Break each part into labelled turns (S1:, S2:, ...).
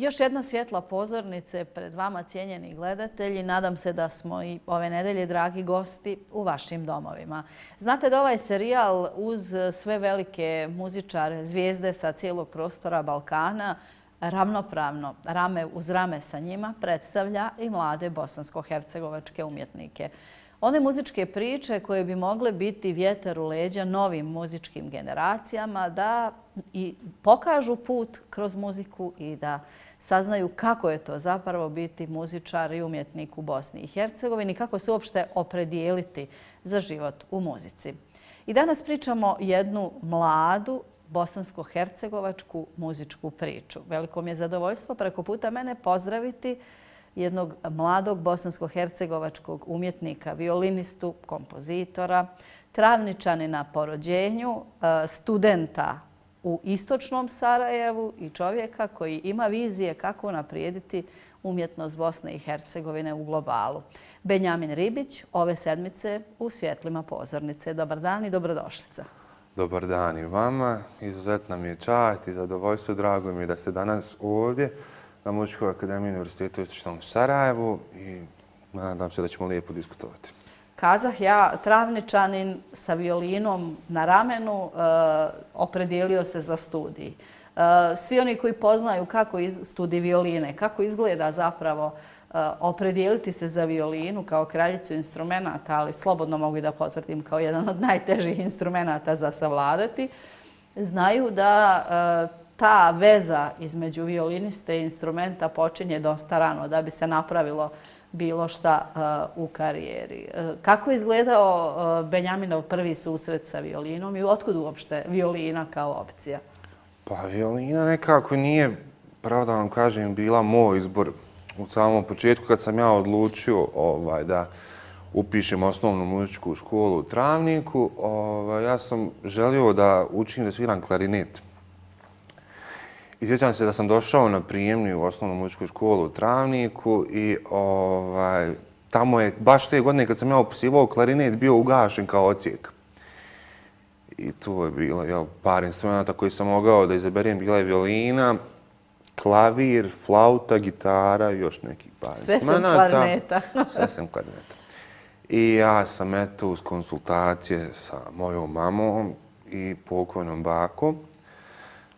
S1: Još jedna svjetla pozornice pred vama, cijenjeni gledatelji. Nadam se da smo i ove nedelje, dragi gosti, u vašim domovima. Znate da ovaj serijal uz sve velike muzičare, zvijezde sa cijelog prostora Balkana, ravnopravno, rame uz rame sa njima, predstavlja i mlade bosansko-hercegovačke umjetnike. One muzičke priče koje bi mogle biti vjetar u leđa novim muzičkim generacijama da i pokažu put kroz muziku i da saznaju kako je to zapravo biti muzičar i umjetnik u Bosni i Hercegovini, kako se uopšte opredijeliti za život u muzici. I danas pričamo jednu mladu bosansko-hercegovačku muzičku priču. Veliko mi je zadovoljstvo preko puta mene pozdraviti jednog mladog bosansko-hercegovačkog umjetnika, violinistu, kompozitora, Travničanina po rođenju, studenta u istočnom Sarajevu i čovjeka koji ima vizije kako unaprijediti umjetnost Bosne i Hercegovine u globalu. Benjamin Ribić, ove sedmice u svjetlima pozornice. Dobar dan i dobrodošlica.
S2: Dobar dan i vama. Izuzetna mi je čast i zadovoljstvo. Drago mi je da ste danas ovdje na Muzičkoj akademiji Univerzitetu u istočnom Sarajevu i nadam se da ćemo lijepo diskutovati.
S1: Kazah ja, Travničanin sa violinom na ramenu, opredijelio se za studij. Svi oni koji poznaju kako studij violine, kako izgleda zapravo opredijeliti se za violinu kao kraljicu instrumenata, ali slobodno mogu i da potvrdim kao jedan od najtežih instrumenata za savladati, znaju da ta veza između violiniste i instrumenta počinje dosta rano da bi se napravilo bilo šta u karijeri. Kako je izgledao Benjaminov prvi susret sa violinom i otkud uopšte violina kao opcija?
S2: Pa violina nekako nije, pravo da vam kažem, bila moj izbor. U samom početku kad sam ja odlučio da upišem osnovnu muzičku školu u Travniku, ja sam želio da učim da sviram klarinet. I sjećam se da sam došao na prijemni u osnovnu muzičku školu u Travniku i tamo je baš te godine kad sam ja upisivao klarinet bio ugašen kao odsjek. I tu je bilo par instrumenta koji sam mogao da izaberem. Bila je violina, klavir, flauta, gitara i još neki par instrumenta.
S1: Sve sam klarineta.
S2: Sve sam klarineta. I ja sam uz konsultacije sa mojom mamom i pokojnom bakom.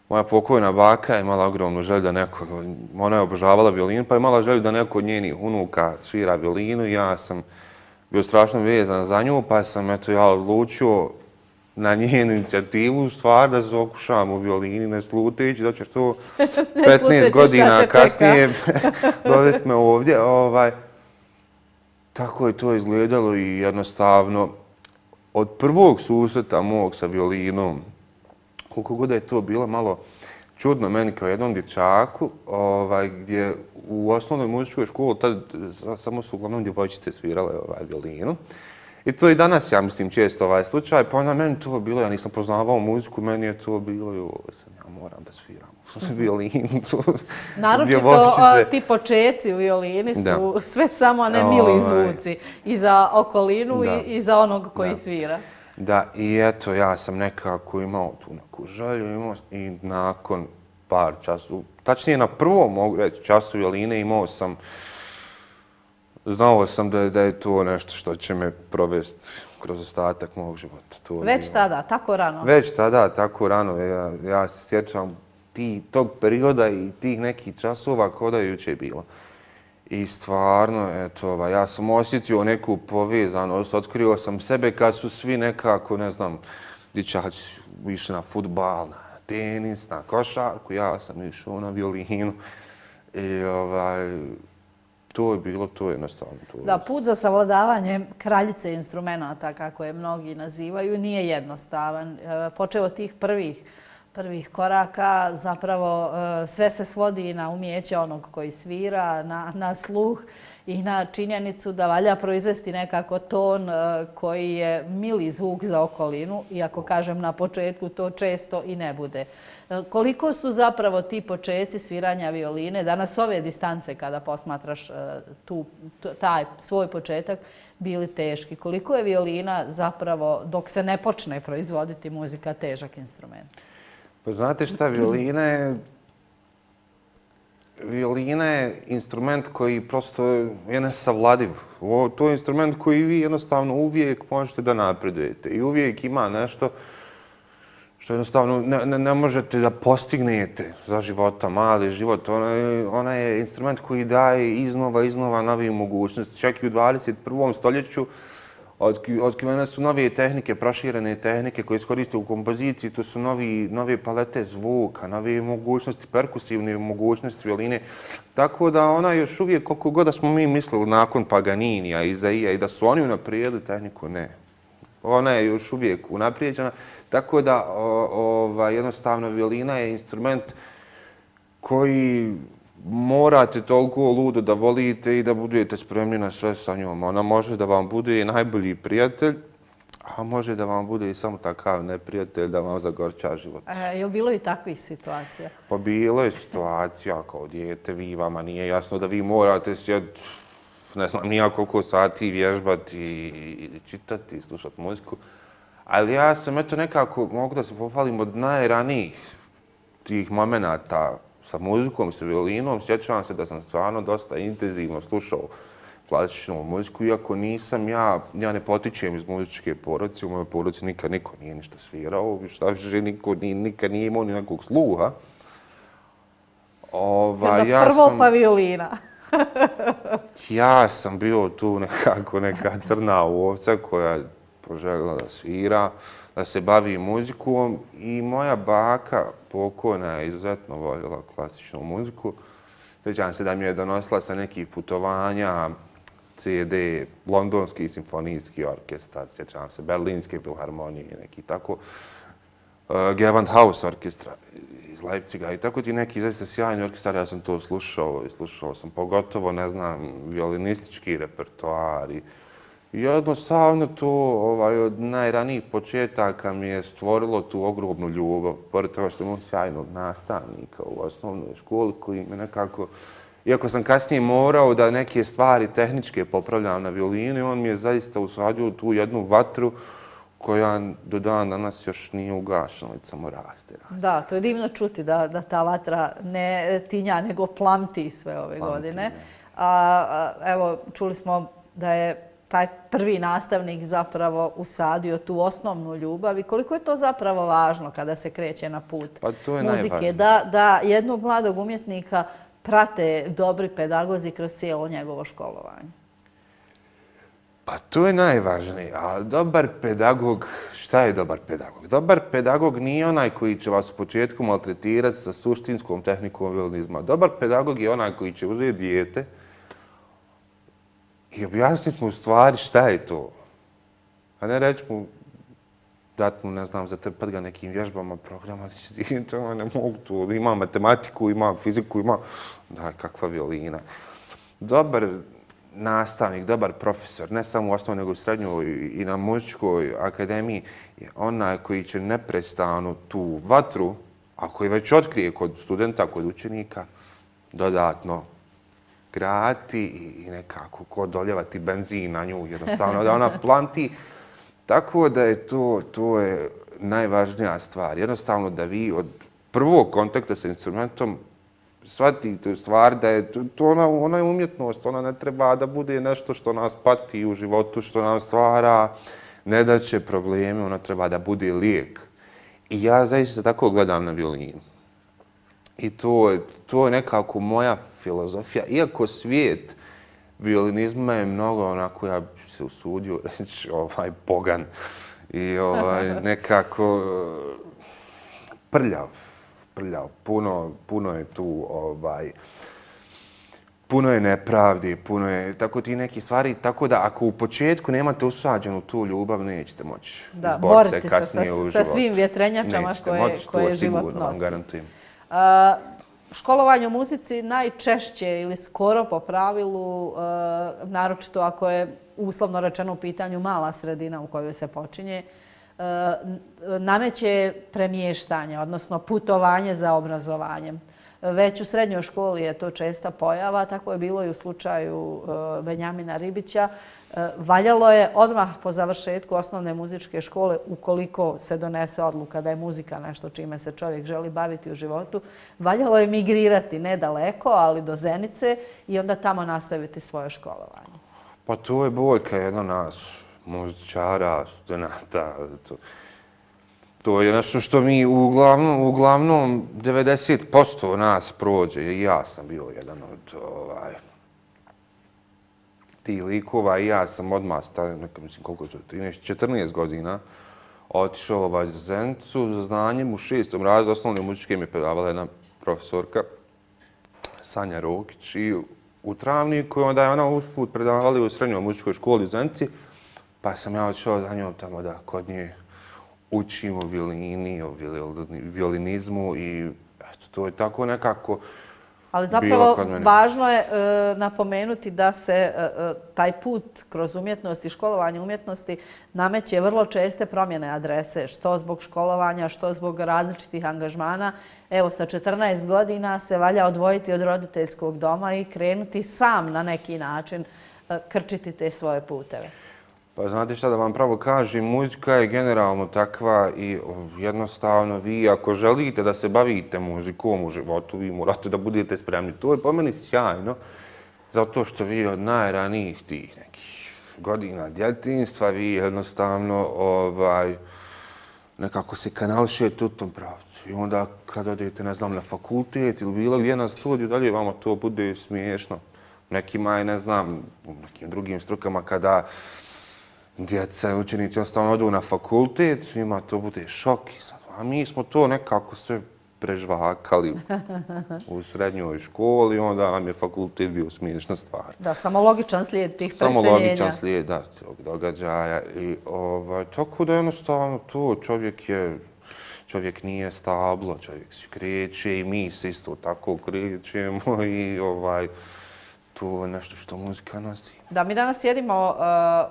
S2: Moja pokojna baka je imala ogromnu želju da neko, ona je obožavala violinu, pa je imala želju da neko od njenih unuka svira violinu. Ja sam bio strašno vezan za nju, pa sam ja odlučio na njenu inicijativu stvar da se okušam u violini ne sluteći, da će to 15 godina kasnije dovesti me ovdje. Tako je to izgledalo i jednostavno od prvog susreta mog sa violinom, koliko god je to bilo malo čudno meni kao jednom dječaku, gdje u osnovnoj muzičkoj školi tad samo su uglavnom djevojčice svirale violinu. I to i danas, ja mislim, često slučaj. Pa onda meni to bilo, ja nisam poznavao muziku, meni je to bilo, ja moram da sviram violinu.
S1: Naročito ti počeci u violini su sve samo ne mili zvuci. I za okolinu i za onog koji svira.
S2: Da, i eto, ja sam nekako imao tu neku želju i nakon par času, tačnije na prvom mogu reći času violine znao sam da je to nešto što će me provesti kroz ostatak mog života.
S1: Već tada, tako rano?
S2: Već tada, tako rano. Ja se sjećam tog perioda i tih nekih časova kao da je jučer bilo. I stvarno, eto, ja sam osjetio neku povezanost, otkrio sam sebe kad su svi nekako, ne znam, dječaci išli na fudbal, na tenis, na košarku, ja sam išao na violinu. I to je bilo, to je jednostavno.
S1: Da, put za savladavanje kraljice instrumenata, kako je mnogi nazivaju, nije jednostavan. Počeo od tih prvih koraka, zapravo sve se svodi na umijeće onog koji svira, na sluh i na činjenicu da valja proizvesti nekako ton koji je mili zvuk za okolinu, iako kažem na početku to često i ne bude. Koliko su zapravo ti početci sviranja violine, danas ove distance kada posmatraš taj svoj početak, bili teški? Koliko je violina zapravo, dok se ne počne proizvoditi muzika, težak instrument?
S2: Pa znate šta, violina je violina je instrument koji prosto je nesavladiv. To je instrument koji vi jednostavno uvijek možete da napredujete i uvijek ima nešto što jednostavno ne možete da postignete za života, mali život. Ona je instrument koji daje iznova nove mogućnosti. Čak i u 21. stoljeću otkrivene su nove tehnike, proširene tehnike koje se koriste u kompoziciji. To su nove palete zvuka, nove mogućnosti, perkusivne mogućnosti violine. Tako da ona još uvijek, koliko god da smo mi mislili nakon Paganinija, Izaija i da su oni unaprijedili tehniku, ne. Ona je još uvijek unaprijeđena. Tako da jednostavno violina je instrument koji morate toliko ludo da volite i da budete spremni na sve sa njom. Ona može da vam bude i najbolji prijatelj, a može da vam bude i samo takav neprijatelj da vam zagorča život.
S1: Je li bilo i takvih situacija?
S2: Pa bilo je situacija kao dijete, vama nije jasno da vi morate sjeti, ne znam, nija koliko sati vježbati i čitati i slušati muziku. Ali ja sam nekako, mogu da se pohvalim od najranijih tih momenata sa muzikom i sa violinom. Sjećam se da sam stvarno dosta intenzivno slušao klasičnu muziku, iako nisam ja ne potičem iz muzičke porodice, u mojoj porodici nikad niko nije ništa svirao, šta više niko nikad nije imao ni nekog sluha.
S1: Prvo pa violina.
S2: Ja sam bio tu nekako neka crna ovca koja poželjela da svira, da se bavi muzikom i moja baka pokojna je izuzetno voljela klasičnu muziku. Sjećam se da mi je donosila sa nekih putovanja CD, Londonski simfonijski orkestar, sjećam se Berlinske filharmonije, neki tako, Gewandhaus orkestra iz Leipziga i tako ti neki zaista sjajni orkestar, ja sam to slušao i slušao sam pogotovo, ne znam, violinistički repertoar i jednostavno to od najranijih početaka mi je stvorilo tu ogromnu ljubav. Pored toga što sam imao sjajnog nastavnika u osnovnoj školi koji me nekako, iako sam kasnije morao da neke stvari tehničke popravljam na violini, on mi je zaista usadio tu jednu vatru koja do dan danas još nije ugašena, već samo raste.
S1: Da, to je divno čuti da ta vatra ne tinja, nego plamti sve ove godine. Evo, čuli smo da je taj prvi nastavnik zapravo usadio tu osnovnu ljubav i koliko je to zapravo važno kada se kreće na put muzike, da jednog mladog umjetnika prate dobri pedagozi kroz cijelo njegovo školovanje.
S2: Pa to je najvažnije. A dobar pedagog, šta je dobar pedagog? Dobar pedagog nije onaj koji će vas u početku maltretirati sa suštinskom tehnikom violinizma. Dobar pedagog je onaj koji će uzeti dijete i objasniti mu u stvari šta je to. A ne reći mu, dati mu, ne znam, zatrpati ga nekim vježbama, programa, to ne mogu to. Ima matematiku, ima fiziku, ima... Da, kakva violina. Dobar nastavnik, dobar profesor, ne samo u osnovnoj, nego u srednjoj i na muzičkoj akademiji, je onaj koji će neprestano tu vatru, a koji već otkrije kod studenta, kod učenika, dodatno grati i nekako doljevati benzin na nju, jednostavno da ona plamti. Tako da je to je najvažnija stvar. Jednostavno da vi od prvog kontakta sa instrumentom shvatite u stvar da je to ona je umjetnost, ona ne treba da bude nešto što nas pati u životu, što nam stvara nedaće, probleme, ona treba da bude lijek. I ja zaista tako gledam na violinu. I to je nekako moja filozofija. Iako svijet violinizma je mnogo onako, ja bih se usudio reći, pogan i nekako prljav. Puno je tu, puno je nepravdi, puno je tako ti neki stvari. Tako da ako u početku nemate usađenu tu ljubav, nećete moći izboriti se kasnije u životu.
S1: Sa svim vjetrenjačama koje život nosi.
S2: Vam garantujem.
S1: Školovanje u muzici najčešće ili skoro po pravilu, naročito ako je uslovno rečeno u pitanju mala sredina u kojoj se počinje, nameće premještanje, odnosno putovanje za obrazovanjem. Već u srednjoj školi je to česta pojava, tako je bilo i u slučaju Benjamina Ribića. Valjalo je odmah po završetku osnovne muzičke škole, ukoliko se donese odluka da je muzika nešto čime se čovjek želi baviti u životu, valjalo je migrirati nedaleko, ali do Zenice i onda tamo nastaviti svoje školovanje.
S2: Pa to je boljka jedna nas, muzičara, studenta. To je nešto što mi uglavnom 90% nas prođe. I ja sam bio jedan od tih likova i ja sam odmah stavio, mislim koliko je to, 13-14 godina, otišao za Zenicu za znanjem u 6. razredu osnovne muzičke mi je predavala jedna profesorka, Sanja Rokić, i u Travniku, onda je ona usput predavala u srednjoj muzičkoj školi u Zenici, pa sam ja otišao za njom tamo da kod nje učim o violini, o violinizmu i eto, to je tako nekako.
S1: Ali zapravo važno je napomenuti da se taj put kroz umjetnost i školovanje umjetnosti nameće vrlo česte promjene adrese, što zbog školovanja, što zbog različitih angažmana. Evo, sa 14 godina se valja odvojiti od roditeljskog doma i krenuti sam na neki način krčiti te svoje puteve.
S2: Pa znate šta da vam pravo kažem, muzika je generalno takva i jednostavno vi ako želite da se bavite muzikom u životu, vi morate da budete spremni. To je po meni sjajno, zato što vi od najranijih tih nekih godina djetinjstva vi jednostavno nekako se kanališete u tom pravcu. I onda kad odete, ne znam, na fakultet ili bilo gdje na studiju, dalje vama to bude smiješno. Nekima je, ne znam, u nekim drugim strukama kada djeca i učenici jednostavno odu na fakultet, svima to bude šok. A mi smo to nekako sve prežvakali u srednjoj školi, onda nam je fakultet bio smiješna stvar.
S1: Da, samo logičan slijed tih preseljenja.
S2: Samo logičan slijed, da, tog događaja. I tako da jednostavno to čovjek nije stablo, čovjek se kreće i mi se isto tako krećemo i to je nešto što muzika nosi.
S1: Da, mi danas sjedimo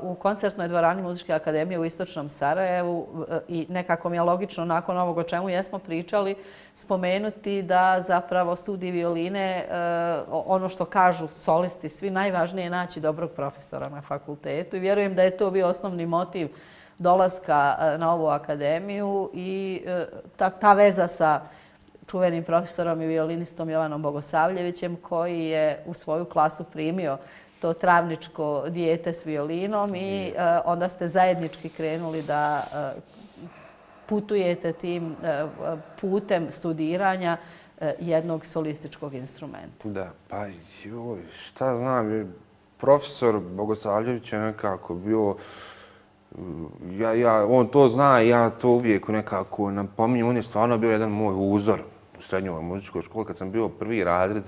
S1: u koncertnoj dvorani Muzičke akademije u Istočnom Sarajevu i nekako mi je logično nakon ovog o čemu jesmo pričali spomenuti da zapravo studij violine, ono što kažu solisti, svi najvažnije je naći dobrog profesora na fakultetu i vjerujem da je to bio osnovni motiv dolaska na ovu akademiju i ta veza sa čuvenim profesorom i violinistom Jovanom Bogosavljevićem koji je u svoju klasu primio to travničko dijete s violinom i onda ste zajednički krenuli da putujete tim putem studiranja jednog solističkog instrumenta.
S2: Da, pa joj, šta znam, profesor Bogosavljević je nekako bio, on to zna i ja to uvijek nekako napominjem, on je stvarno bio jedan moj uzor u srednjoj muzičkoj školi. Kad sam bio prvi razred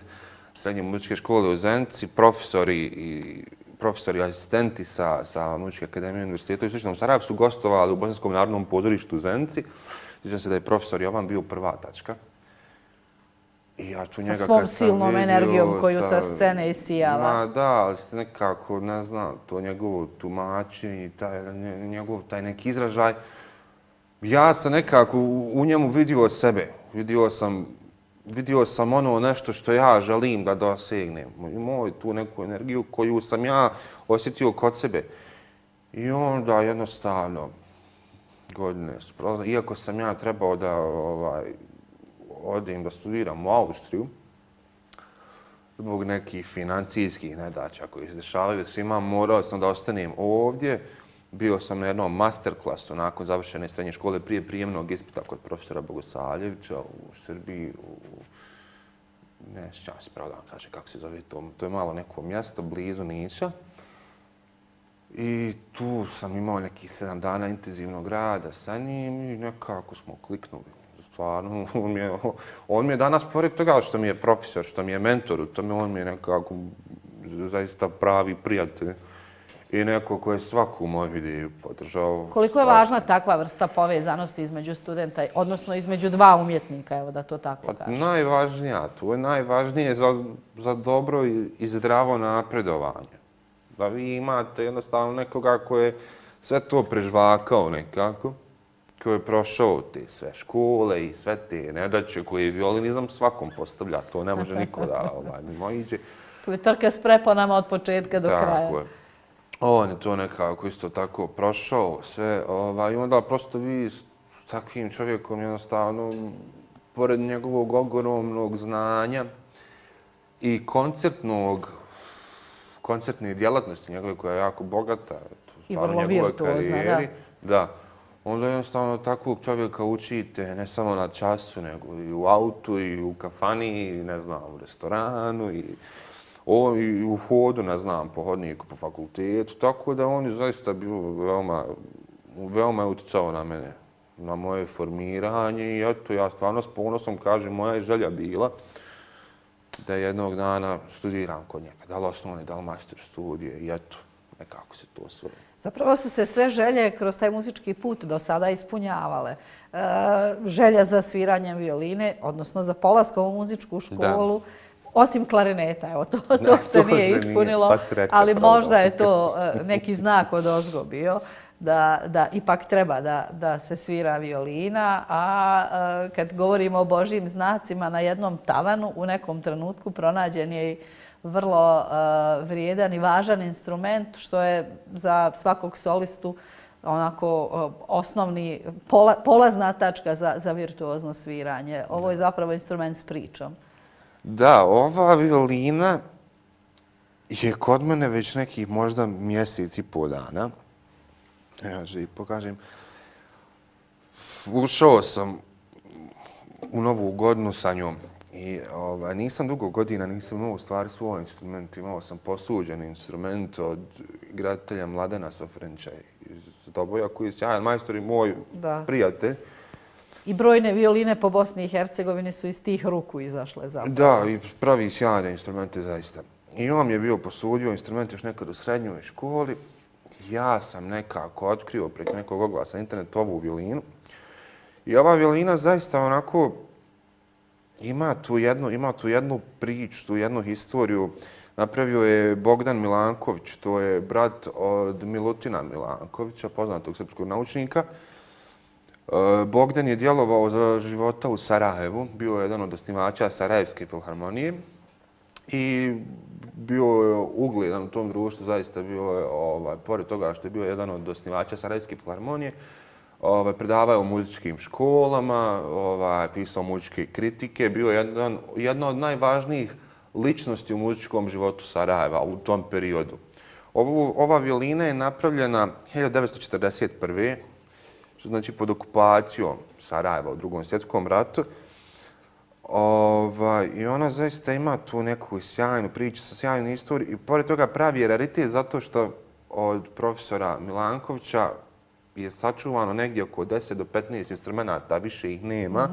S2: srednje muzičke škole u Zenici, profesori i asistenti sa Muzičke akademije univerziteta u Istočnom Sarajevu su gostovali u Bosanskom narodnom pozorištu u Zenici. Sjećam se da je profesor Jovan bio prva tačka.
S1: Sa svom silnom energijom koju sa scene isijava.
S2: Da, ali ste nekako, ne znam, to njegovo tumačenje, njegov taj neki izražaj. Ja sam nekako u njemu vidio sebe. Vidio sam ono nešto što ja želim da dosegnem. Imao tu neku energiju koju sam ja osjetio kod sebe. I onda jednostavno godine su prolazile. Iako sam ja trebao da odem da studiram u Austriju, zbog nekih financijskih nedaća koji se dešavaju svima, morao sam da ostanem ovdje. Bio sam na jednom masterklasu nakon završene srednje škole prije prijemnog ispita kod profesora Bogosavljevića u Srbiji. Ne sjećam se pravo da vam kaže kako se zove to. To je malo neko mjesto blizu Niša. I tu sam imao nekih 7 dana intenzivnog rada sa njim i nekako smo kliknuli. Stvarno, on mi je danas, pored toga što mi je profesor, što mi je mentor, on mi je nekako zaista pravi prijatelj i neko koji je svaku moju ideju podržao.
S1: Koliko je važna takva vrsta povezanosti između studenta, odnosno između dva umjetnika, evo da to tako kažem?
S2: Najvažnija, to je najvažnije za dobro i zdravo napredovanje. Da vi imate jednostavno nekoga koji je sve to prežvakao nekako, koji je prošao te sve škole i sve te nedaće koje violinizam svakom postavlja. To ne može niko da mimoiđe.
S1: To je trka s preponama od početka do kraja.
S2: Tako je. On je to nekako isto tako prošao sve. I onda prosto vi s takvim čovjekom jednostavno, pored njegovog ogromnog znanja i koncertne djelatnosti njegove koja je jako bogata.
S1: I vrlo virtuozna,
S2: da. Onda jednostavno takvog čovjeka učite ne samo na času, nego i u autu, i u kafani, ne znam, u restoranu, i u hodu, ne znam, po hodniku, po fakultetu. Tako da on je zaista bio veoma je utjecao na mene, na moje formiranje i eto, ja stvarno s ponosom kažem, moja je želja bila da jednog dana studiram kod njega, da li osnovne, da li master studije i eto, nekako se to osvoje.
S1: Zapravo su se sve želje kroz taj muzički put do sada ispunjavale. Želja za sviranjem violine, odnosno za polaskom u muzičku školu, osim klarineta, evo, to se nije ispunilo, ali možda je to neki znak odozgo bio da ipak treba da se svira violina, a kad govorimo o Božjim znacima na jednom tavanu, u nekom trenutku pronađen je i vrlo vrijedan i važan instrument, što je za svakog solistu onako osnovni polazna tačka za virtuozno sviranje. Ovo je zapravo instrument s pričom.
S2: Da, ova violina je kod mene već nekih možda mjesec i pol dana. Ja želim pokažem. Ušao sam u novu godinu sa njom i nisam dugo godina, nisam imao u stvari svoj instrument. Imao sam posuđen instrument od igratelja Mladena Sofrenča iz Doboja, koji je sjajan majstor i moj prijatelj.
S1: I brojne violine po Bosni i Hercegovini su iz tih ruku izašle zapravo.
S2: Da, i pravi sjajne instrumente zaista. I on je bio posudio instrumente još nekad u srednjoj školi. Ja sam nekako otkrio preko nekog oglasa na internetu ovu violinu. I ova violina zaista onako ima tu jednu priču, tu jednu historiju. Napravio je Bogdan Milanković, to je brat od Milutina Milankovića, poznatog srpskog naučnika. Bogdan je djelovao za života u Sarajevu, bio je jedan od osnivača Sarajevske filharmonije i bio je ugledan u tom društvu, zaista bio je, pored toga što je bio jedan od osnivača Sarajevske filharmonije, predavao u muzičkim školama, pisao muzičke kritike, bio je jedna od najvažnijih ličnosti u muzičkom životu Sarajeva u tom periodu. Ova violina je napravljena 1941. što znači pod okupacijom Sarajeva u Drugom svjetskom ratu. I ona zaista ima tu neku sjajnu priču sa sjajnom istorijom i pored toga pravi je raritet zato što od profesora Milankovića je sačuvano negdje oko 10 do 15 instrumenta, više ih nema.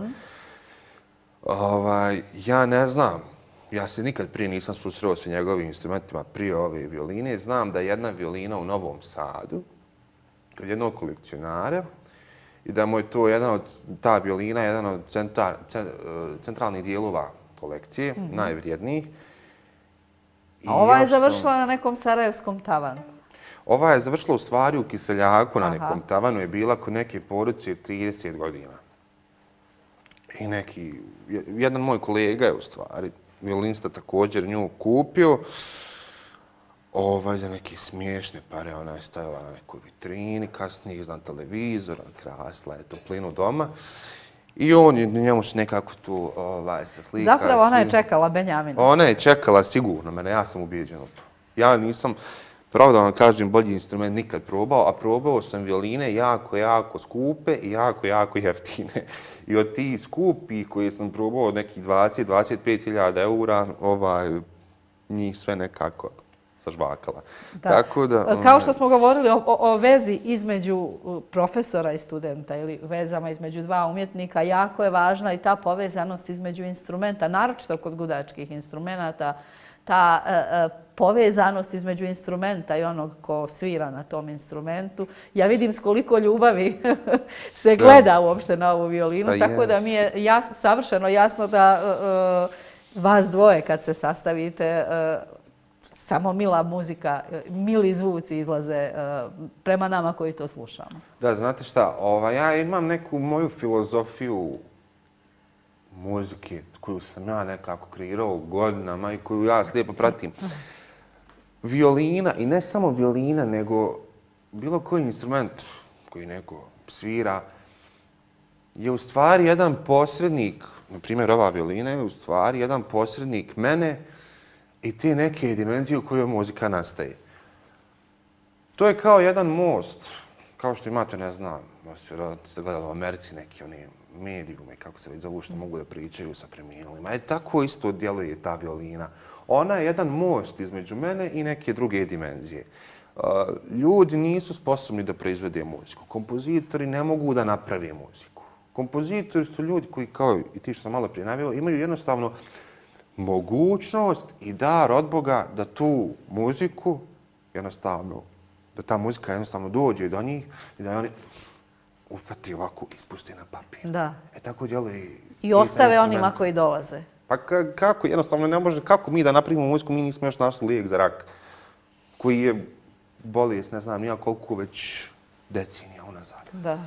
S2: Ja ne znam, ja se nikad prije nisam susreo sa njegovim instrumentima prije ove violine. Znam da je jedna violina u Novom Sadu, kod jednog kolekcionara, i da mu je to ta violina jedan od centralnih dijelova kolekcije, najvrijednijih.
S1: A ova je završila na nekom sarajevskom tavanu?
S2: Ova je završila u stvari u Kiseljaku na nekom tavanu, je bila kod neke porodice 30 godina. I jedan moj kolega je u stvari, violinista također nju kupio, za neke smiješne pare, ona je stajala na nekoj vitrini, kasnije iznad televizora, krasila je toplinu doma. I njemu se nekako tu se slika.
S1: Zapravo ona je čekala Benjamina.
S2: Ona je čekala sigurno mene, ja sam ubijeđen u to. Ja nisam, pravo da vam kažem, bolji instrument nikad probao, a probao sam violine jako skupe i jako jeftine. I od tih skupi koje sam probao od nekih 20-25.000 eura, njih sve nekako sažvakala.
S1: Kao što smo govorili o vezi između profesora i studenta ili vezama između dva umjetnika, jako je važna i ta povezanost između instrumenta, naročito kod gudačkih instrumenta, ta povezanost između instrumenta i onog ko svira na tom instrumentu. Ja vidim s koliko ljubavi se gleda uopšte na ovu violinu, tako da mi je savršeno jasno da vas dvoje kad se sastavite samo mila muzika, mili zvuci izlaze prema nama koji to slušamo.
S2: Da, znate šta, ja imam neku moju filozofiju muzike koju sam ja nekako kreirao godinama i koju ja slijepo pratim. Violina, i ne samo violina, nego bilo koji instrument koji neko svira, je u stvari jedan posrednik, na primjer ova violina je u stvari jedan posrednik mene i te neke dimenzije u kojoj muzika nastaje. To je kao jedan most, kao što imate, ne znam, ste gledali u Americi neki oni medijume, kako se već zovu, što mogu da pričaju sa preminulima. Tako isto djeluje ta violina. Ona je jedan most između mene i neke druge dimenzije. Ljudi nisu sposobni da proizvede muziku. Kompozitori ne mogu da naprave muziku. Kompozitori su ljudi koji, kao i ti što sam malo prije naveo, imaju jednostavno mogućnost i dar od Boga da tu muziku jednostavno, da ta muzika jednostavno dođe do njih i da oni ufati ovako i ispusti na papir.
S1: Da.
S2: Tako djeluje
S1: i ostave onima koji dolaze.
S2: Pa kako, jednostavno ne može, kako mi da napravimo muziku, mi nismo još našli lijek za rak, koji je bolest, ne znam, nija koliko već decenija unazad.
S1: Da.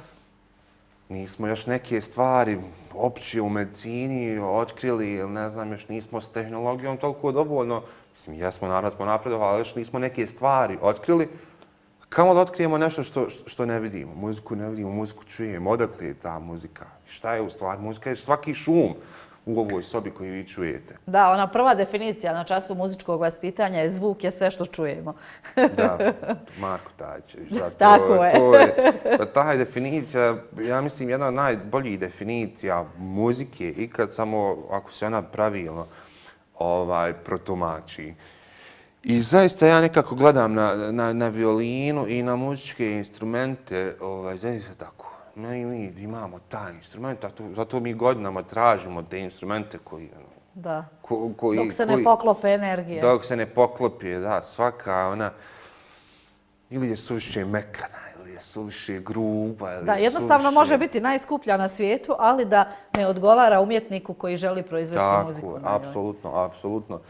S2: Nismo još neke stvari opće u medicini otkrili, ili ne znam, još nismo s tehnologijom toliko dovoljno, mislim, jesmo, naravno smo napredovali, ali još nismo neke stvari otkrili. Kamo da otkrijemo nešto što ne vidimo? Muziku ne vidimo, muziku čujemo, odakle je ta muzika? Šta je u stvari? Muzika je svaki šum u ovoj sobi koju vi čujete.
S1: Da, ona prva definicija na času muzičkog vaspitanja je zvuk je sve što čujemo.
S2: Da, Marko Tajićević.
S1: Tako je.
S2: Ta definicija, ja mislim, jedna od najboljih definicija muzike ikad, samo ako se ona pravilno protumači. I zaista ja nekako gledam na violinu i na muzičke instrumente, zaista tako. Mi imamo taj instrument, zato mi godinama tražimo te instrumente koji...
S1: Da, dok se ne poklope energije.
S2: Dok se ne poklopi, da, svaka ona... Ili je suviše mekana, ili je suviše gruba, ili
S1: da, jednostavno može biti najskuplja na svijetu, ali da ne odgovara umjetniku koji želi proizvesti muziku.
S2: Tako, apsolutno, apsolutno.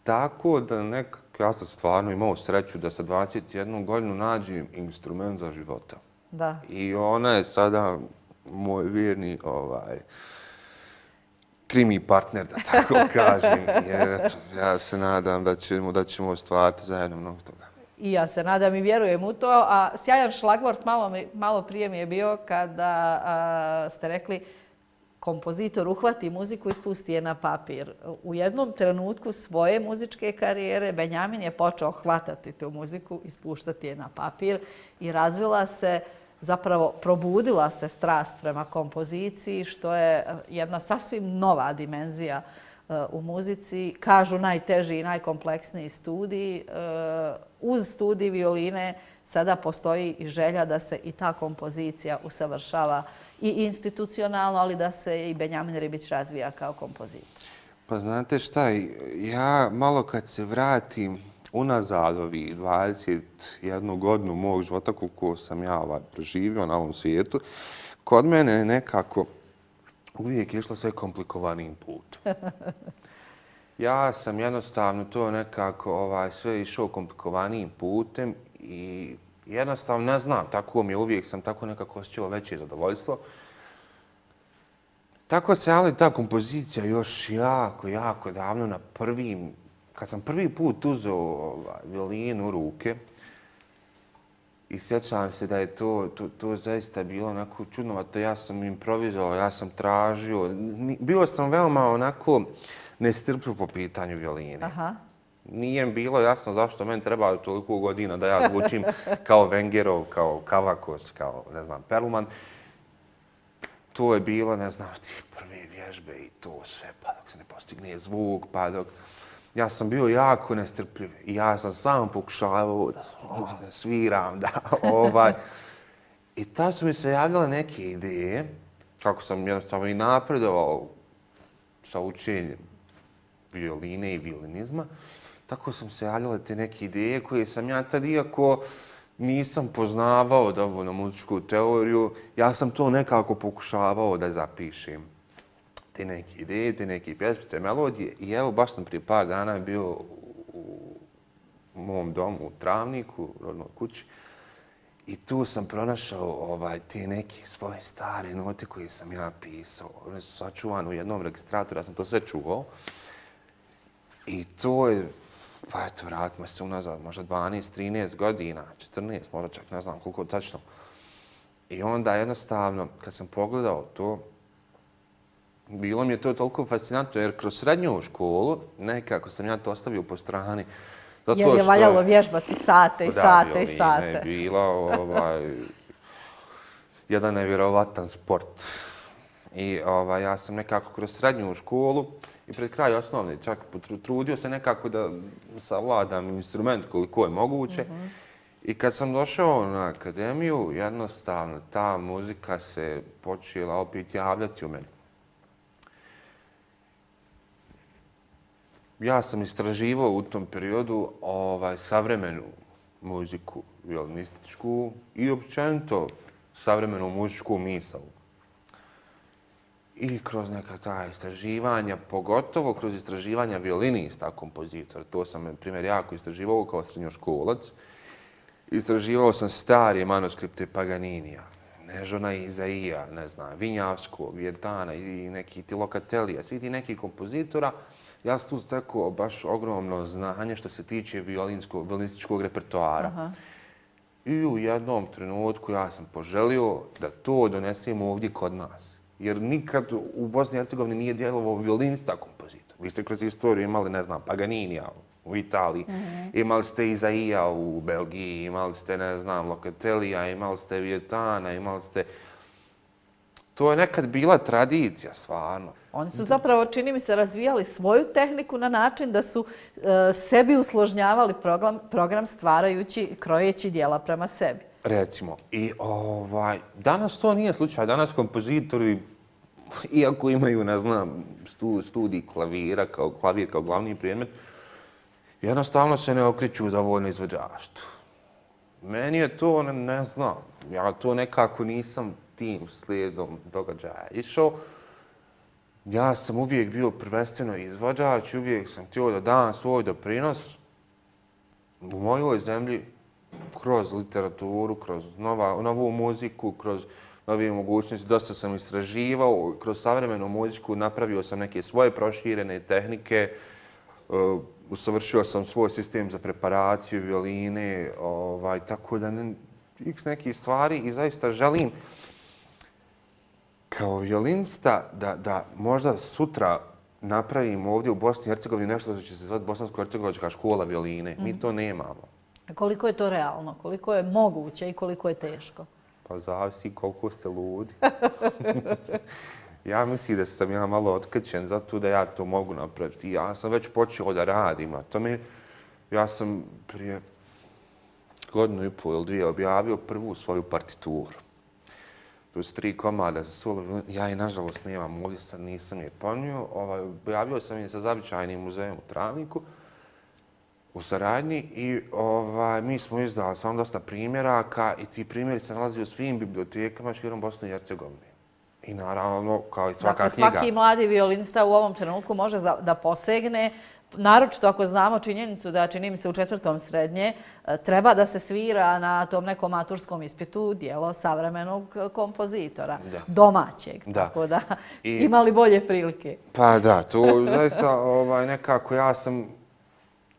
S2: Tako da nekako, ja sam stvarno imao sreću da sa 21 godinu nađem instrument za života.
S1: Da. I
S2: ona je sada moj vjerni krimi partner, da tako kažem. Ja se nadam da ćemo ostvariti zajedno mnogo toga.
S1: I ja se nadam i vjerujem u to. A sjajan šlagvort malo prije mi je bio kada ste rekli kompozitor uhvati muziku i spusti je na papir. U jednom trenutku svoje muzičke karijere Benjamin je počeo hvatati tu muziku i spuštati je na papir i razvila se, zapravo probudila se strast prema kompoziciji, što je jedna sasvim nova dimenzija u muzici. Kažu najteži i najkompleksniji studij. Uz studij violine sada postoji i želja da se i ta kompozicija usavršava i institucionalno, ali da se i Benjamin Ribić razvija kao kompozitor.
S2: Pa znate šta, ja malo kad se vratim unazad ovih 21 godinu mog života, koliko sam ja proživio na ovom svijetu, kod mene je nekako uvijek išlo sve komplikovanijim putom. Ja sam jednostavno to nekako sve išao komplikovanijim putem i jednostavno ne znam, tako mi je, uvijek sam tako nekako osjećao veće zadovoljstvo. Tako se, ali ta kompozicija još jako davno kad sam prvi put uzeo violinu u ruke i sjećam se da je to zaista bilo onako čudnovato. Ja sam improvizovao, ja sam tražio. Bio sam veoma onako nestrpljiv po pitanju violine.
S1: Aha.
S2: Nije mi bilo jasno zašto meni treba toliko godina da ja zvučim kao Wengerov, kao Kavakos, kao, ne znam, Perlman. To je bilo, ne znam, ti prve vježbe i to sve, pa dok se ne postigne zvuk, pa dok... Ja sam bio jako nestrpljiv i ja sam sam pokušavao da sviram, I tad su mi se javljale neke ideje, kako sam jednostavno i napredovao sa učenjem violine i violinizma, tako sam se javljale te neke ideje koje sam ja tad, iako nisam poznavao dovoljno muzičku teoriju, ja sam to nekako pokušavao da zapišem. Te neke ideje, te neke pjesmice, melodije. I evo, baš sam prije par dana bio mom domu u Travniku, u rodnoj kući. I tu sam pronašao te neke svoje stare note koje sam ja pisao. One su sačuvane u jednom registratoru, ja sam to sve čuvao. I to je, pa eto, vratimo se unazad, možda 12, 13 godina, 14, možda čak ne znam koliko tačno. I onda jednostavno, kad sam pogledao to, bilo mi je to toliko fascinantno, jer kroz srednju školu nekako sam ja to ostavio po strani.
S1: Jer je valjalo vježbati sate i sate i sate.
S2: Da, violine je bila jedan nevjerovatan sport. I ja sam nekako kroz srednju školu i pred kraj osnovne čak trudio se nekako da savladam instrument koliko je moguće. I kad sam došao na akademiju, jednostavno ta muzika se počela opet javljati u meni. Ja sam istraživao u tom periodu savremenu muziku, violinističku i općenito savremenu muzičku misao. I kroz neka ta istraživanja, pogotovo kroz istraživanja violinista, kompozitora, to sam, na primjer, jako istraživao kao srednjoškolac. Istraživao sam starije manuskripte Paganinija, Nežona Izaija, ne znam, Vinjavskog, Vietana i neki ti Locatelija, svi ti neki kompozitora. Ja sam tu stekao baš ogromno znanje što se tiče violinističkog repertoara. I u jednom trenutku ja sam poželio da to donesemo ovdje kod nas. Jer nikad u Bosni i Hercegovini nije djelovao violinista kompozitor. Vi ste kroz istoriju imali, ne znam, Paganinija u Italiji, imali ste Izaija u Belgiji, imali ste, ne znam, Locatelija, imali ste Vietana, imali ste... To je nekad bila tradicija, stvarno.
S1: Oni su zapravo, čini mi se, razvijali svoju tehniku na način da su sebi usložnjavali program stvarajući, krojeći dijela prema sebi.
S2: Recimo. I danas to nije slučaj. Danas kompozitori, iako imaju, ne znam, studij klavira, klavir kao glavni predmet, jednostavno se ne okreću za voljno izvođaštvo. Meni je to, ne znam, ja to nekako nisam tim slijedom događaja išao. Ja sam uvijek bio prvenstveno izvođač, uvijek sam htio da dam svoj doprinos u mojoj zemlji kroz literaturu, kroz novu muziku, kroz nove mogućnosti. Dosta sam istraživao, kroz savremenu muziku napravio sam neke svoje proširene tehnike, usavršio sam svoj sistem za preparaciju, violine, tako da nekih stvari i zaista želim kao violinista da možda sutra napravimo ovdje u Bosni i Hercegovini nešto što će se zvati Bosansko-hercegovačka škola violine. Mi to nemamo.
S1: Koliko je to realno? Koliko je moguće i koliko je teško?
S2: Pa zavisi koliko ste ludi. Ja mislim da sam ja malo otkrčen zato da ja to mogu napraviti. Ja sam već počeo da radim na tome. Ja sam prije 1,5 ili 2 objavio prvu svoju partituru. To su 3 komada za solo violinu. Ja je nažalost nemam ovdje, sad nisam je ponio. Objavio sam je sa Zavičajnim muzejom u Travniku u saradnji i mi smo izdali samo dosta primjeraka i ti primjeri se nalazi u svim bibliotekama širom Bosne i Hercegovine. I naravno, kao i svaka knjiga.
S1: Svaki mladi violinista u ovom trenutku može da posegne, naročito ako znamo činjenicu da, čini mi se, u 4. srednje treba da se svira na tom nekom maturskom ispitu dijelo savremenog kompozitora, domaćeg, tako da imali bolje prilike.
S2: Pa da, to zaista nekako ja sam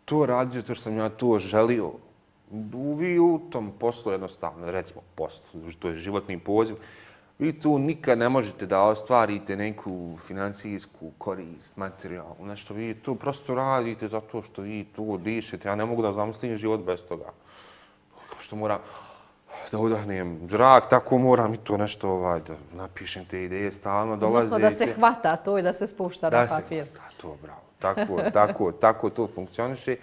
S2: to radio, to što sam ja to želio. Vi u tom poslu jednostavno, recimo poslu, to je životni poziv, vi tu nikad ne možete da ostvarite neku financijsku korist, materijalnu, nešto. Vi tu prosto radite zato što vi tu dišete. Ja ne mogu da zamislim život bez toga. Što moram da udahnem zrak, tako moram i to nešto da napišem te ideje, stalno dolazite.
S1: Odnosno da se hvata to i da se spušta na papir.
S2: To, bravo. Tako to funkcioniše.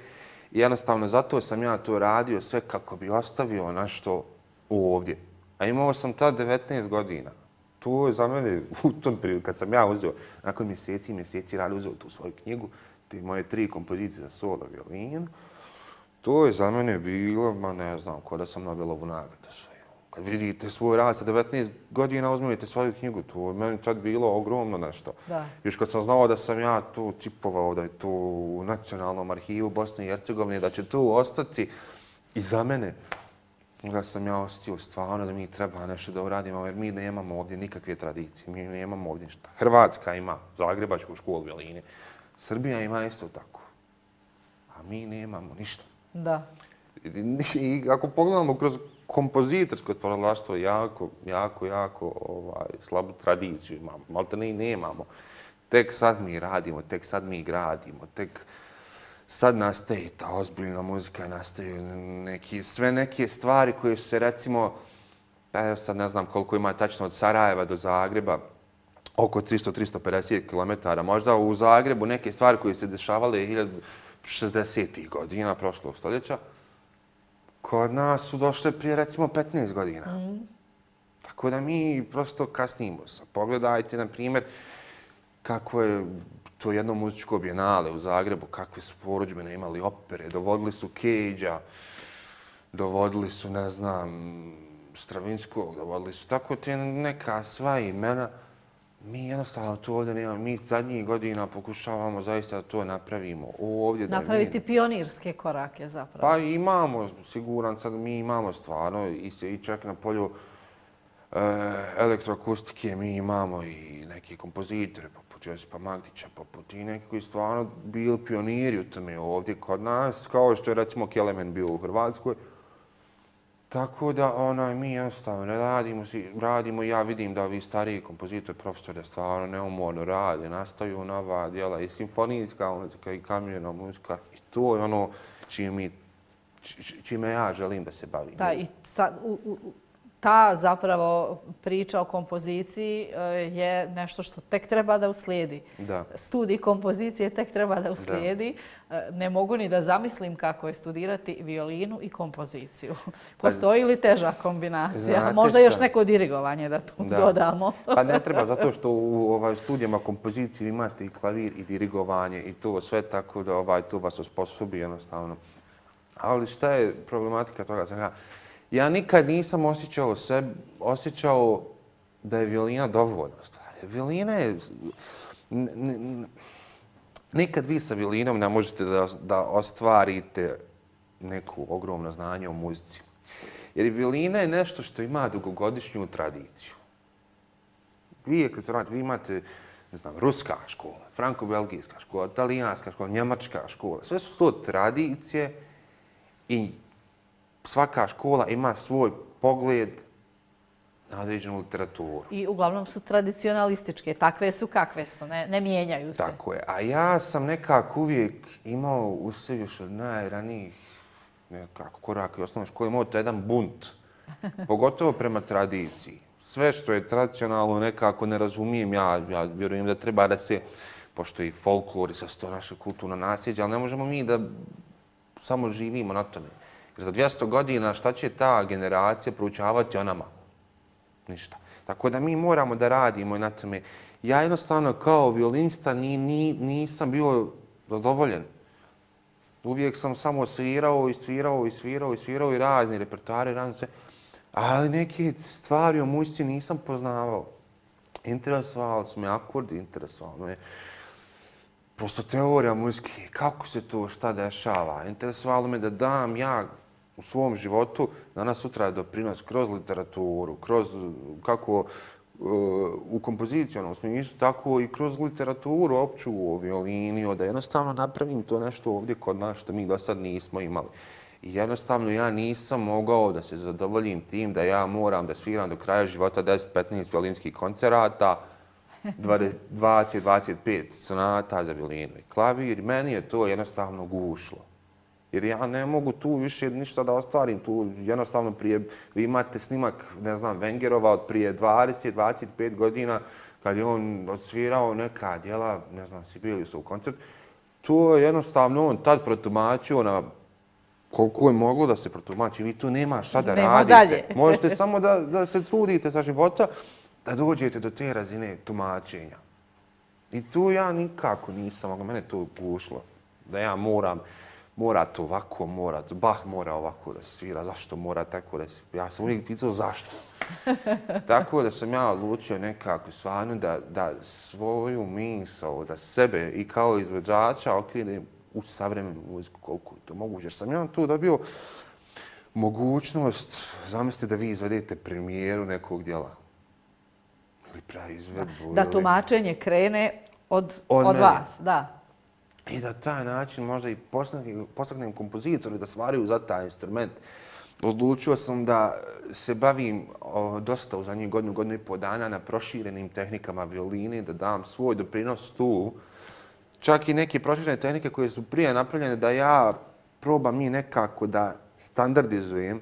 S2: I jednostavno zato sam ja to radio sve kako bi ostavio nešto ovdje. A imao sam tad 19 godina. To je za mene u tom periodu, kad sam ja uzeo, nakon mjeseci rada uzeo tu svoju knjigu, te moje 3 kompozicije za solo violinu, to je za mene bilo, ne znam, ko da sam Nobelovu nagradu svoju. Kad vidite svoj rad sa 19 godina, uzmite svoju knjigu. To je meni tad bilo ogromno nešto. Još kad sam znao da sam ja tu tipovao, da je to u Nacionalnom arhivu Bosne i Hercegovine, da će tu ostati i za mene, da sam ja osjetio stvarno da mi treba nešto da uradimo, jer mi nemamo ovdje nikakve tradicije, mi nemamo ovdje ništa. Hrvatska ima Zagrebačku školu violine, Srbija ima isto tako, a mi nemamo ništa.
S1: Da.
S2: I ako pogledamo kroz kompozitorsko stvaralaštvo, jako slabu tradiciju imamo, malte ne i nemamo. Tek sad mi radimo, tek sad mi gradimo, tek sad nastaje ta ozbiljna muzika, nastaju sve neke stvari koje su se recimo, ja sad ne znam koliko ima tačno od Sarajeva do Zagreba, oko 300-350 km. Možda u Zagrebu neke stvari koje se dešavale 60. godina prošlog stoljeća, kod nas su došle prije recimo 15 godina. Tako da mi prosto kasnimo. Pogledajte, na primjer, kako je to jedno muzičko bijenale u Zagrebu, kakve su porudžbine imali opere, dovodili su Cage-a, dovodili su, ne znam, Stravinskog, dovodili su tako te neka sva imena. Mi jednostavno to ovdje nemamo. Mi zadnjih godina pokušavamo zaista da to napravimo.
S1: Napraviti pionirske korake zapravo.
S2: Pa imamo, siguran sad, mi imamo stvarno i čak na polju elektroakustike mi imamo i neki kompozitore, poput Josipa Magdića, poput i neki koji stvarno bili pioniri u tome ovdje kod nas, kao što je recimo Kelemen bio u Hrvatskoj. Tako da mi jednostavno radimo i ja vidim da ovi stariji kompozitori, profesori stvarno neumorno rade, nastaju nova djela i simfonijska muzika i kamjerna muzika i to je ono čime ja želim da se bavim.
S1: Da, i ta zapravo priča o kompoziciji je nešto što tek treba da uslijedi. Studij kompozicije tek treba da uslijedi. Ne mogu ni da zamislim kako je studirati violinu i kompoziciju. Postoji li teža kombinacija? Možda još neko dirigovanje da tu dodamo.
S2: Pa ne treba, zato što u studijama kompozicije imate i klavir i dirigovanje i to sve tako da to vas osposobi jednostavno. Ali šta je problematika toga? Ja nikad nisam osjećao da je violina dovoljna stvar. Violina je... Nikad vi sa violinom ne možete da ostvarite neku ogromno znanje o muzici. Jer violina je nešto što ima dugogodišnju tradiciju. Vi, kad se vratite, vi imate, ne znam, ruska škola, franko-belgijska škola, italijanska škola, njemačka škola. Sve su to tradicije i svaka škola ima svoj pogled na određenu literaturu.
S1: I uglavnom su tradicionalističke, takve su kakve su, ne mijenjaju se.
S2: Tako je. A ja sam nekako uvijek imao u sebi još od najranijih koraka i osnovne škole, imao to jedan bunt, pogotovo prema tradiciji. Sve što je tradicionalno nekako ne razumijem, ja vjerujem da treba da se, pošto i folklor i sa to naše kulturno nasljeđe, ali ne možemo mi da samo živimo na tome. Jer za 200 godina šta će ta generacija proučavati o nama? Ništa. Tako da mi moramo da radimo na tome. Ja jednostavno kao violinista nisam bio zadovoljen. Uvijek sam samo svirao i razni repertoari, sve. Ali neke stvari o muzici nisam poznavao. Interesovali su me akordi, interesovalo me prosto teorija muzike, kako se to, šta dešava. Interesovalo me da dam ja u svom životu danas sutra doprinos kroz literaturu, kroz kako u kompozicijonom smislu, tako i kroz literaturu opću o violini, da jednostavno napravim to nešto ovdje kod nas što mi do sad nismo imali. I jednostavno ja nisam mogao da se zadovoljim tim da ja moram da sviram do kraja života 10-15 violinskih koncerata, 20-25 sonata za violinu i klavir. Meni je to jednostavno gušlo. Jer ja ne mogu tu više ništa da ostvarim. Tu jednostavno vi imate snimak, ne znam, Wengerova od prije 20-25 godina kad je on odsvirao neka djela, ne znam, Sibeliusov koncert. To je jednostavno on tad protumačio na koliko je moglo da se protumači. Vi tu nema šta da radite. Možete samo da se trudite za života da dođete do te razine tumačenja. I tu ja nikako nisam, mene to gušlo. Da ja moram mora to ovako, Bach mora ovako da svira, zašto mora tako da svira? Ja sam uvijek pitao zašto. Tako da sam ja odlučio nekako stvarno da svoju misao, da sebe i kao izvođača okrenem u savremenu muziku koliko je to moguće. Jer sam ja tu dobio mogućnost, zamislite da vi izvedete premijeru nekog djela. Ili praizvedbu.
S1: Da tumačenje krene od vas, da.
S2: I da taj način možda i postaknem kompozitore da stvaraju za taj instrument. Odlučio sam da se bavim dosta u zadnjih godinu i pol dana na proširenim tehnikama violine, da dam svoj doprinos tu. Čak i neke proširene tehnike koje su prije napravljene da ja probam njih nekako da standardizujem,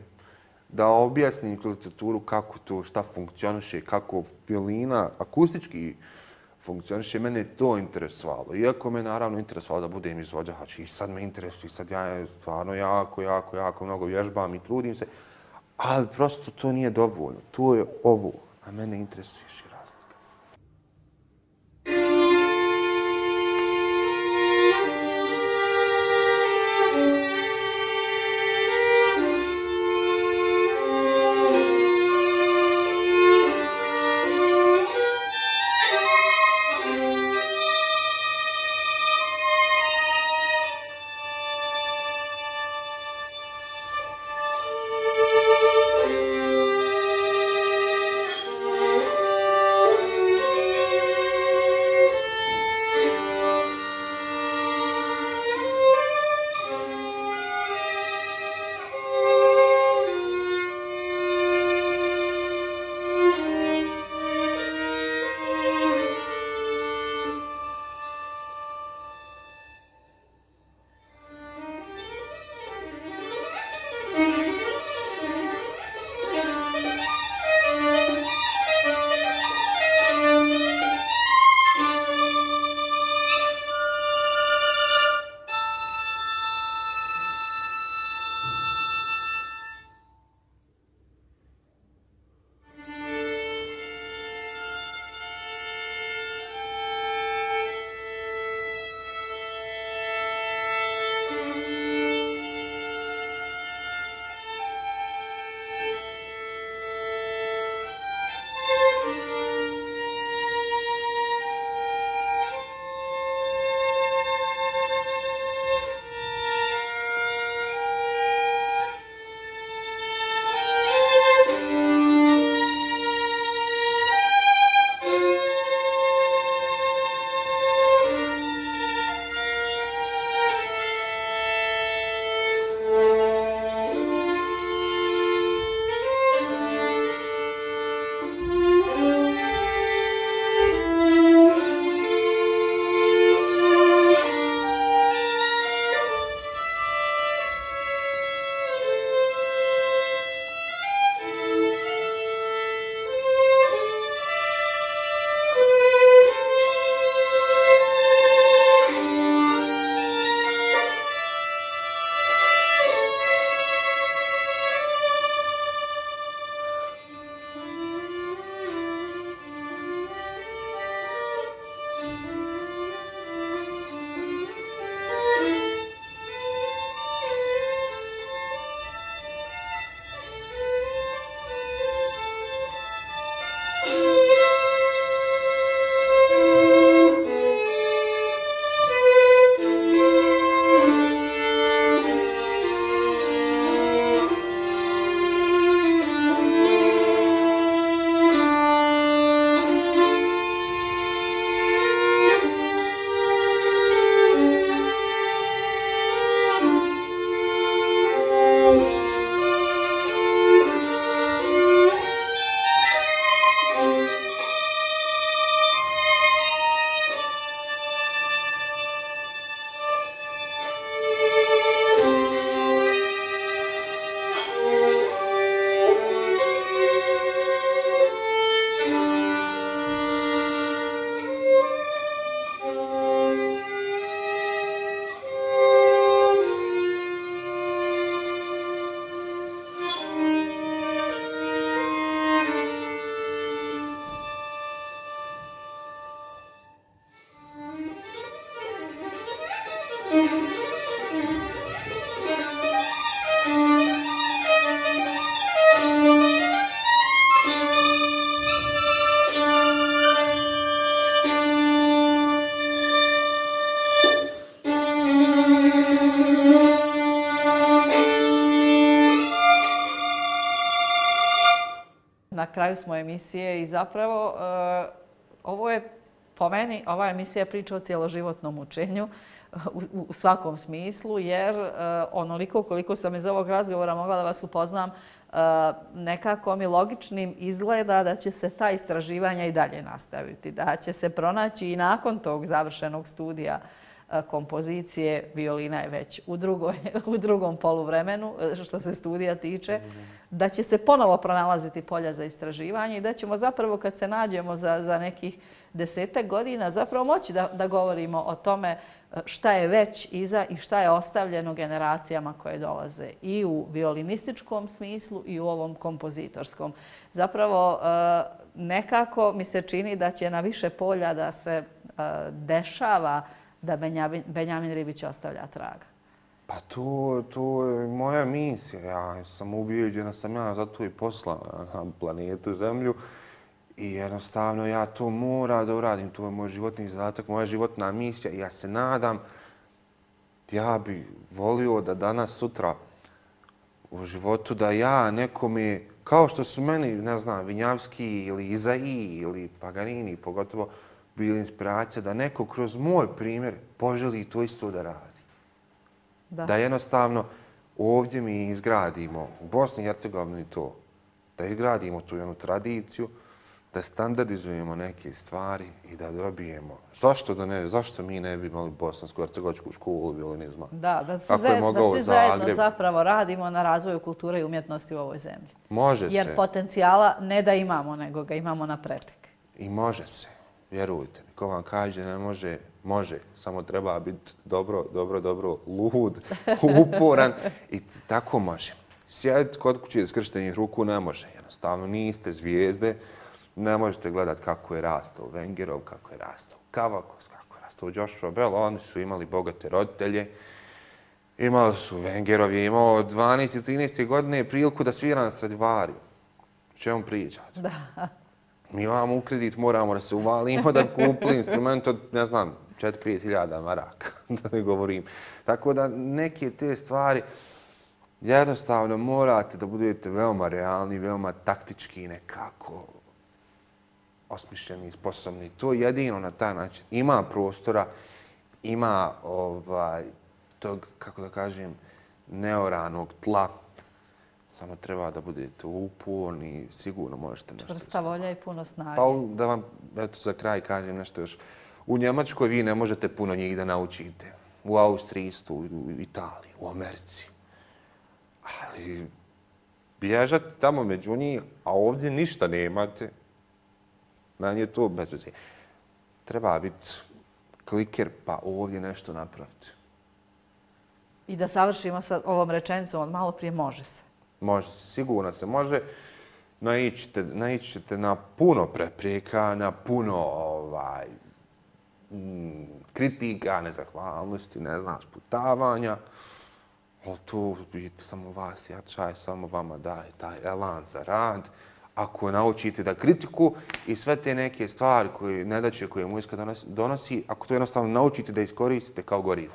S2: da objasnim kroz literaturu kako to, šta funkcioniše, kako violina akustički funkcioniše. Mene je to interesovalo. Iako me naravno interesovalo da budem izvođač i sad me interesuje, sad ja stvarno jako mnogo vježbam i trudim se, ali prosto to nije dovoljno. To je ovo, a mene interesuje šira razlika.
S1: Na kraju smo emisije i zapravo ovo je, po meni, ova emisija je priča o cjeloživotnom učenju u svakom smislu, jer onoliko koliko sam iz ovog razgovora mogla da vas upoznam, nekako mi logičnim izgleda da će se ta istraživanja i dalje nastaviti, da će se pronaći i nakon tog završenog studija kompozicije, violina je već u drugom poluvremenu što se studija tiče, da će se ponovo pronalaziti polja za istraživanje i da ćemo zapravo kad se nađemo za nekih 10 godina zapravo moći da govorimo o tome šta je već iza i šta je ostavljeno generacijama koje dolaze i u violinističkom smislu i u ovom kompozitorskom. Zapravo nekako mi se čini da će na više polja da se dešava da Benjamin Ribić ostavlja traga.
S2: Pa to je moja misija. Ja sam ubijeđena, sam ja zato i poslan na planetu Zemlju i jednostavno ja to moram da uradim. To je moj životni zadatak, moja životna misija i ja se nadam, ja bi volio da danas, sutra u životu da ja nekome, kao što su meni, ne znam, Vinjavski ili Izaiji ili Paganini, pogotovo bili inspiracija da neko kroz moj primjer poželi to isto da radi. Da jednostavno ovdje mi izgradimo u Bosni i Hercegovini to, da izgradimo tu jednu tradiciju, da standardizujemo neke stvari i da dobijemo. Zašto mi ne bi imali bosansko-hercegovačku školu violinizma?
S1: Da svi zajedno zapravo radimo na razvoju kulture i umjetnosti u ovoj zemlji.
S2: Može se.
S1: Jer potencijala ne da imamo, nego ga imamo na pretek.
S2: I može se. Vjerujte mi, ko vam kaže ne može, može. Samo treba biti dobro lud, uporan i tako može. Sjediti kod kuće skrštenih ruku ne može. Jednostavno niste zvijezde. Ne možete gledati kako je rastao Vengerov, kako je rastao Kavakos, kako je rastao Joshua Bell. Oni su imali bogate roditelje. Imali su, Vengerov je imao 12 i 13 godine priliku da svira na Stradivariju. O čemu pričati?
S1: Da.
S2: Mi imamo u kredit, moramo da se uvalimo da kupili instrument od, ne znam, 4-5 hiljada maraka, da ne govorim. Tako da neke te stvari jednostavno morate da budete veoma realni, veoma taktički nekako osmišljeni, sposobni. To jedino na taj način. Ima prostora, ima tog, kako da kažem, neoranog tla. Samo treba da budete uporni, sigurno možete nešto.
S1: Čvrsta volja i puno snage.
S2: Pa da vam za kraj kažem nešto još. U Njemačkoj vi ne možete puno njih da naučite. U Austriji isto, u Italiji, u Americi. Ali bježate tamo među njih, a ovdje ništa nemate. Meni je to bez veze. Treba biti kliker pa ovdje nešto napraviti.
S1: I da savršimo sa ovom rečenicom od malo prije može se.
S2: Može se, sigurno se može. Naići ćete na puno prepreka, na puno kritika, nezahvalnosti, ne znam, sputavanja. Ali tu samo vas jača i samo vama daje taj elan za rad. Ako naučite da kritiku i sve te neke stvari, nedaće koje muzika donosi, ako to jednostavno naučite da iskoristite kao gorivo.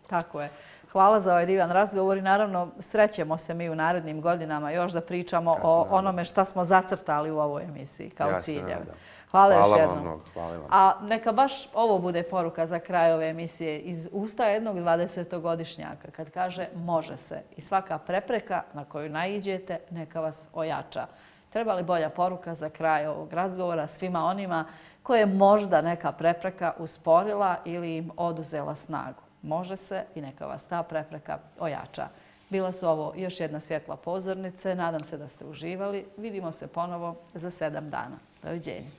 S1: Tako je. Hvala za ovaj divan razgovor i naravno srećemo se mi u narednim godinama još da pričamo o onome šta smo zacrtali u ovoj emisiji kao ciljeve. Hvala još jednom. A neka baš ovo bude poruka za kraj ove emisije iz usta jednog 20-godišnjaka kad kaže može se i svaka prepreka na koju naiđete neka vas ojača. Treba li bolja poruka za kraj ovog razgovora svima onima koje možda neka prepreka usporila ili im oduzela snagu? Može se i neka vas ta prepreka ojača. Bila su ovo još jedna svjetla pozornice. Nadam se da ste uživali. Vidimo se ponovo za 7 dana. Doviđenja.